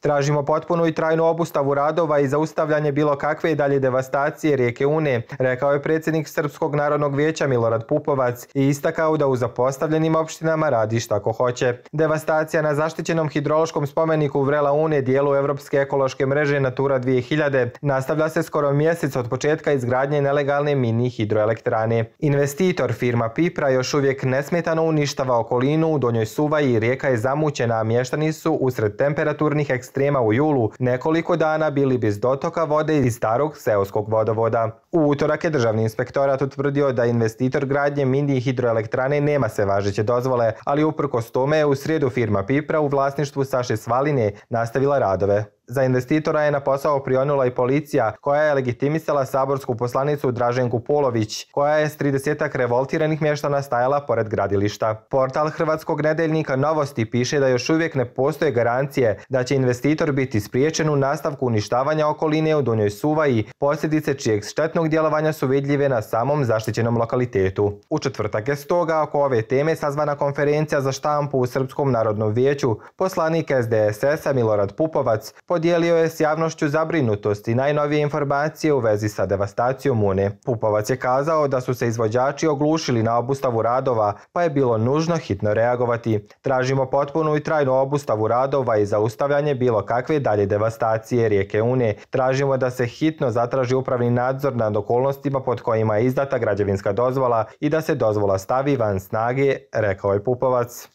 Tražimo potpunu i trajnu obustavu radova i zaustavljanje bilo kakve dalje devastacije rijeke Une, rekao je predsjednik Srpskog narodnog vijeća Milorad Pupovac i istakao da u zapostavljenim opštinama radi šta ko hoće. Devastacija na zaštićenom hidrološkom spomeniku Vrela Une, dijelu Evropske ekološke mreže Natura 2000, nastavlja se skoro mjesec od početka izgradnje nelegalne mini hidroelektrane. Investitor, firma Pipra, još uvijek nesmetano uništava okolinu u Donjoj Suvaji, rijeka je zamućena, a mještani su usred temperaturnih ekstrema u julu nekoliko dana bili bez dotoka vode iz starog seoskog vodovoda. U utorak je Državni inspektorat utvrdio da investitor gradnje mini hidroelektrane nema sve važeće dozvole, ali uprkos tome je u srijedu firma Pipra u vlasništvu Saše Svaline nastavila radove. Za investitora je na posao prionula i policija, koja je legitimisala saborsku poslanicu Draženku Polović, koja je s 30-ak revoltiranih mještana stajala pored gradilišta. Portal hrvatskog nedeljnika Novosti piše da još uvijek ne postoje garancije da će investitor biti spriječen u nastavku uništavanja okoline u Donjoj Suvaji, posljedice čijeg štetnog djelovanja su vidljive na samom zaštićenom lokalitetu. U četvrtak je stoga oko ove teme sazvana konferencija za štampu u Srpskom narodnom vijeću. Poslanik SDSS-a Milorad Pupovac podijelio je s javnošću zabrinutost i najnovije informacije u vezi sa devastacijom Une. Pupovac je kazao da su se izvođači oglušili na obustavu radova, pa je bilo nužno hitno reagovati. Tražimo potpunu i trajnu obustavu radova i zaustavljanje bilo kakve dalje devastacije rijeke Une. Tražimo da se hitno zatraži upravni nadzor nad okolnostima pod kojima je izdata građevinska dozvola i da se dozvola stavi van snage, rekao je Pupovac.